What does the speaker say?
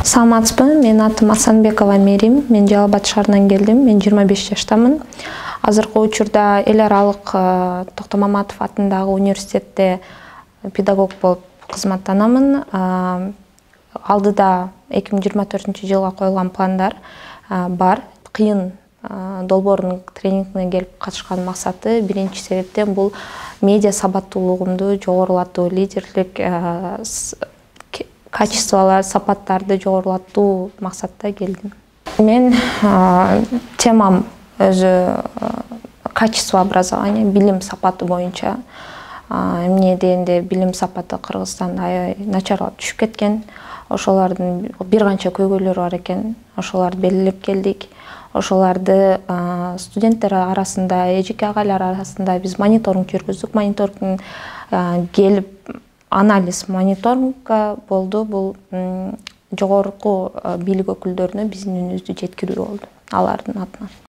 Саламатсызбы, менин атым Асанбекова Мерим. Мен Жалал Абад шаарынан келдим. Мен 25 жаштамын. Азыркы учурда Эл аралык Токтомаматов атындагы университетте педагог болуп кызматтанамын. Алдыда 2024-жылга коюлган пландар бар. Кыйын долбоордун тренингине келип катышкан максаты биринчи себептен бул медиа сабаттуулугумду жогорулатуу, лидерлик качестволор, сапаттарды жогорулатуу максатта келдим. Мен темам өзү качество образования, билим сапаты боюнча. Эмне дегенде билим сапаты Кыргызстанда аябай начарлап түшүп кеткен. Ошолордун бир канча көйгөйлөрү бар экен. Ошолорду белгилеп келдик. Ошолорду студенттер арасында, эжеке агайлар арасында биз мониторинг жүргүздүк. Мониторингдин келип анализ мониторингга болду. Бул жогорку бийлик өкүлдөрүнө биздин үнүбүздү жеткирүү болду алардын атынан.